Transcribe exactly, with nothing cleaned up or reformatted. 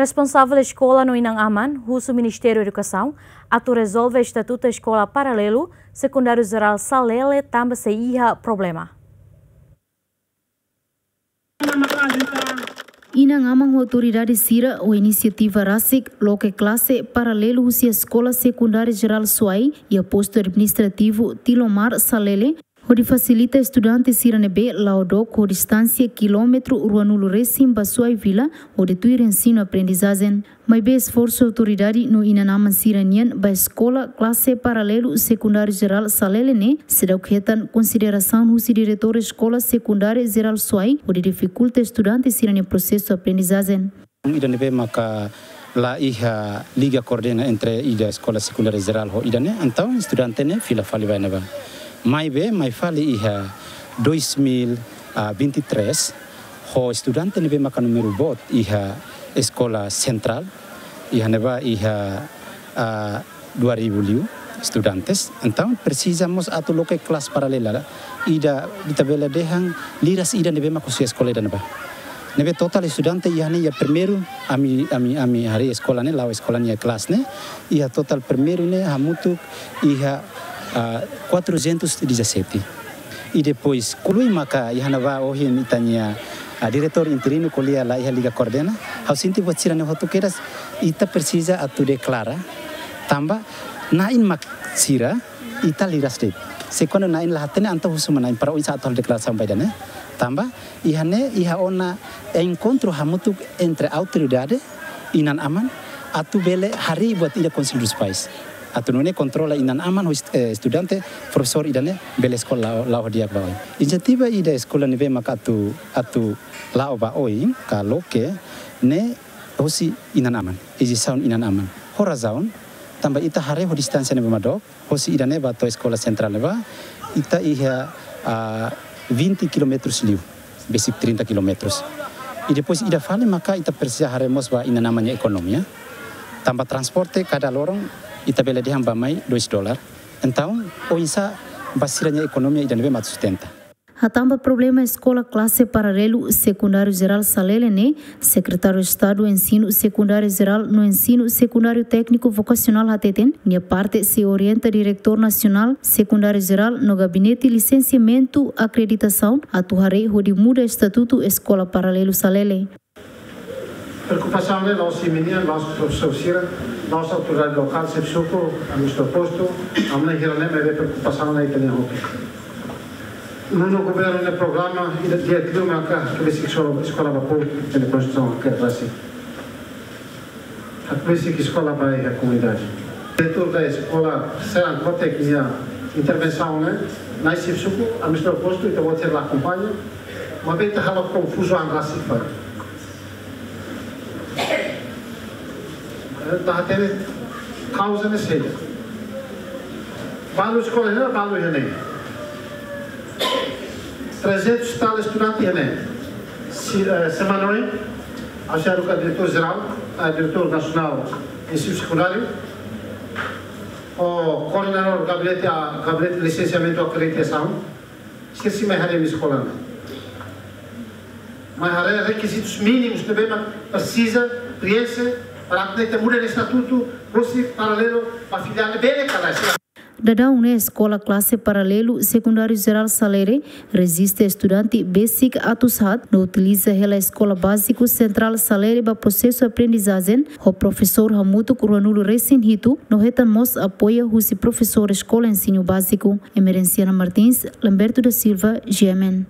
Responsavel eskola no inan-aman husu Ministériu Edukasaun atu rezolve estatutu eskola paralelu sekundáriu jerál Salele tanba sei iha problema. Inan-aman ho autoridade sira ho inisiativa rasik loke klase paralelu husi eskola sekundária jerál Suai iha postu administrativu Tilomar Salele, hodi fasilita estudante sira ne'ebé la'o dook ho distánsia kilómetru ruanulu resin ba Suai Vila, hodi tuir ensinu aprendizajen. Maibé esforsu autoridade no inan-aman sira-nian ba eskola klase paralelu sekundáriu jerál Salele ne'e seidauk hetan konsiderasaun husi diretór eskola sekundária jerál Suai, hodi difikulta estudante sira-nia prosesu aprendizajen. Ida ne'ebé maka la iha liga koordena entre ida eskola sekundária jerál ho ida-ne'e, entaun estudante ne'e fila fali ba iha ne'ebá. Maibé, mai fali iha dois mil e vinte e três, ho estudante ne'ebé maka númeru boot iha eskola sentrál, iha ne'ebá iha, ah, dua ribu liu estudantes. Entaun, presiza mós atu loke klase paralela. Ida, ita bele dehan liras ida ne'ebé maka husi eskola ida ne'ebá. Ne'ebé totál estudante iha ne'e iha primeiru, ami, ami, ami haree eskola ne'e, la'o eskola nia klase ne'e, iha totál primeiru ne'e hamutuk iha, ah, quatrocentos e dezassete. I depois, ko'alia maka iha ne'ebá ohin ita-nia, ah, diretór interinu ko'alia la iha liga koordena, ha'u sente buat sira-ne'e hotu kedas, ita presiza atu deklara, tanba na'in mak sira, ita liras de'it. Se kuandu na'in la hatene, entaun husu mai na'in para oinsá atu halo deklarasaun ba ida-ne'e. Tanba, iha ne'e, iha ona enkontru hamutuk entre autoridade, inan-aman, atu bele harii buat ida Konsellu dos Pais. Atu nune'e kontrola inan-aman ho est-, eh, estudante, profesór ida-ne'e, bele eskola la'o, la'o di'ak ba oin. Inisiativa ida eskola ne'ebé maka atu, atu la'o ba oin, ka loke, ne'e hosi inan-aman, ejisaun inan-aman. Ho razaun, tanba ita haree ho distánsia ne'ebé mak dook, hosi ida-ne'e ba to'o eskola sentrál ne'ebá, ita iha, ah, vinte quilómetros liu, besik trinta quilómetros. I depois ida fali maka ita presiza haree mós ba inan-aman nia ekonomia. Tanba transporte kada loron ita bele dehan bá mai dois dólar. Entaun, oinsá ba sira-nia ekonomia ida ne'ebé mak sustenta. Hatán ba problema eskola klase paralelu sekundáriu jerál Salele ne'e, Sekretáriu Estadu Ensinu Sekundáriu Jerál no Ensinu Sekundáriu Tékniku Vokasionál hateten, nia parte sei orienta Diretór Nasionál Sekundáriu Jerál no Gabinete Lisensiamentu Akreditasaun atu haree hodi muda estatutu eskola paralelu Salele. Preokupasaun ne'e la'ós imi-nian, la'ós profesór sira, la'ós autoridade lokál, xefe suku, administradór postu, ami-nia hira ne'e, maibé preokupasaun ne'e ita-nian hotu. Nune'e governu nia programa, ida di'ak liu maka, ke besik eskola, eskola ba povu, ita-nia konstituisaun ke base. Ke besik eskola ba iha komunidade. Diretór da eskola, serang kotek nia intervensaun ne'e, nai xefe suku, administradór postu, ita-boot sira la akompaña, maibé ita halo konfuzaun rasik fali. Ita hatene kauza ne'e saida. Balu eskola iha ne'e, balu iha ne'e. Trezentos e tal estudante iha ne'e. Se, eh, semana oin, ha'u sei haruka diretór jerál, eh, diretór nasionál ensinu sekundáriu, ho koordenadór gabinete, ah, gabinete lisensiamentu akreditasaun, sira sei mai haree ami-nia eskola ne'e. Mai haree rekizitus mínimus ne'ebé mak presiza prienxe para atu nune'e muda estatutu, hosi paralelu ba filiál ne'e bele ka lae. Daudaun ne'e eskola klase paralelu sekundáriu jerál Salele rejista estudante besik atus haat no utiliza hela eskola báziku sentrál Salele ba prosesu aprendizajen ho profesór hamutuk ruanulu resin hitu no hetan mós apoiu husi profesór eskola ensinu báziku. Emerenciana Martins, Lamberto da Silva, G M N.